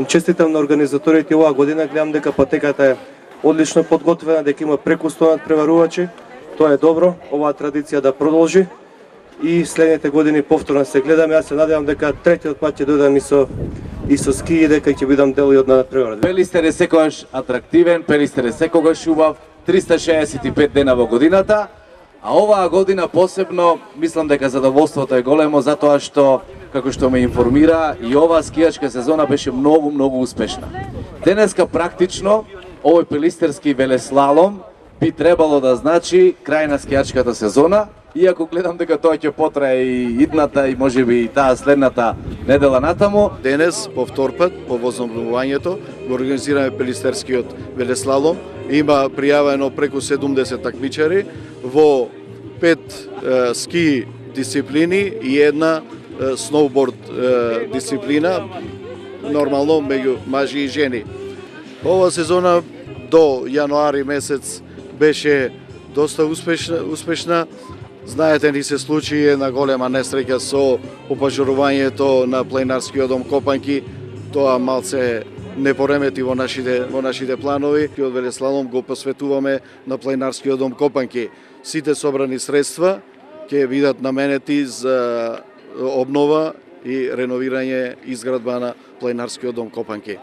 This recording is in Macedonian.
честитам на организаторите оваа година, гледам дека патеката е одлично подготвена, дека има преку 100 надпреварувачи. Тоа е добро, оваа традиција да продолжи и следните години повторно се гледаме. Јас се надевам дека третиот пат ќе дојдам и со ски и дека ќе бидам дел и од надпреварата. Пелистер е секогаш атрактивен, Пелистер е секогаш убав, 365 дена во годината, а оваа година посебно мислам дека задоволството е големо затоа што, како што ме информира, и оваа скијачка сезона беше многу успешна. Денеска практично овој пелистерски велеслалом би требало да значи крај на скијачката сезона, иако гледам дека тоа ќе потрае и идната и можеби и таа следната недела натаму. Денес, по втор пат, по возобновувањето, го организираме пелистерскиот велеслалом. Има пријавено преку 70 такмичари во 5 ски дисциплини и една сноуборд дисциплина, нормално меѓу мажи и жени. Ова сезона до јануари месец беше доста успешна. Знаете, ни се случи една голема несреќа со опажурувањето на планинарскиот дом Копанки. Тоа малце не поремети во нашите планови. Од велеслалом го посветуваме на планинарскиот дом Копанки. Сите собрани средства ќе бидат наменети за обнова и реновирање изградба на планинарскиот дом Копанки.